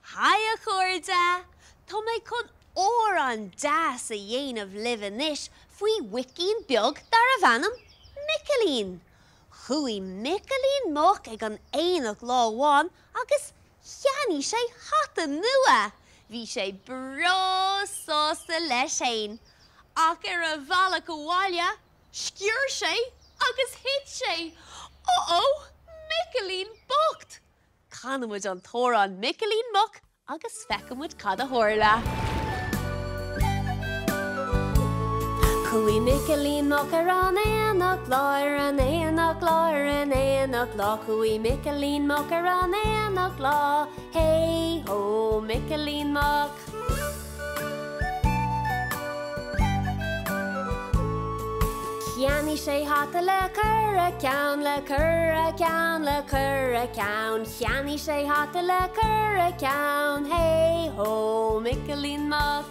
Haigh a chairde! Tá mé chun amhrán deas a dhéanamh libh anois faoi mhuicín beag darbh ainm Micilín. Chuaigh Micilín Muc ag an aonach lá amháin agus cheannaigh sé hata nua. Bhí sé breá sásta leis fhéin. Ach ar a bhealach abhaile, sciorr sé agus thit sé! Uh-oh! Micilín bocht! Canfaidh muid an t-amhrán Micilín Muc agus feicfidh muid cad a tharla. Chuaigh Micilín Muc ar an aonach lá, ar an aonach lá, ar an aonach lá, Chuaigh Micilín Muc ar an aonach lá, Hey ho Micilín Muc. Cheannaigh sé hata le cur a ceann, le cur a ceann, le cur a ceann, Cheannaigh sé hata le cur a ceann, Hey ho Micilín Muc.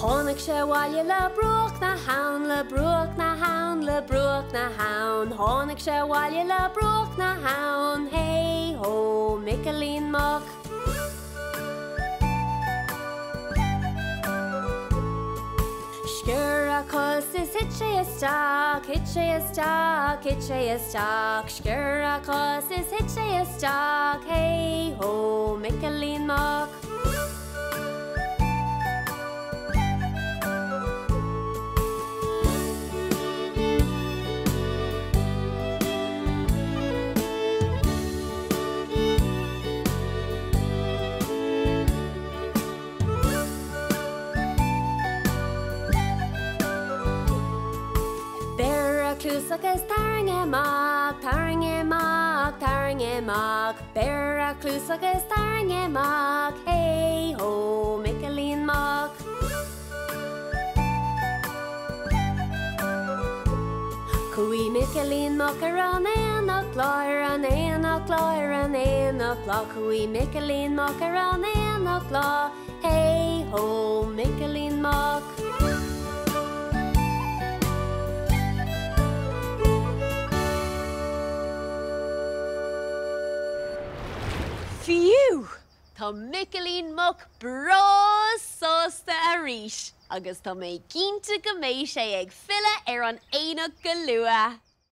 Tháinig sé abhaile le bruach na habhann, le bruach na habhann, le bruach na habhann, Tháinig sé abhaile le bruach na habhann, Hey ho Micilín Muc. Sciorr a chos is thit sé isteach, thit sé isteach, thit sé isteach, Sciorr a chos is thit sé isteach, Hey ho Micilín Muc. Beir a chluas agus tarraing é amach, tarraing é amach, tarraing é amach, Beir a chluas agus tarraing é amach, Hey ho Micilín Muc. Chuaigh Micilín Muc ar an aonach lá, ar an aonach lá, ar an aonach lá, Chuaigh Micilín Muc ar an aonach lá, Hey ho Micilín Muc. Fiú! Tá Micilín Muc breá sásta arís agus tá mé cinnte go mbeidh sé ag filleadh ar an aonach go luath.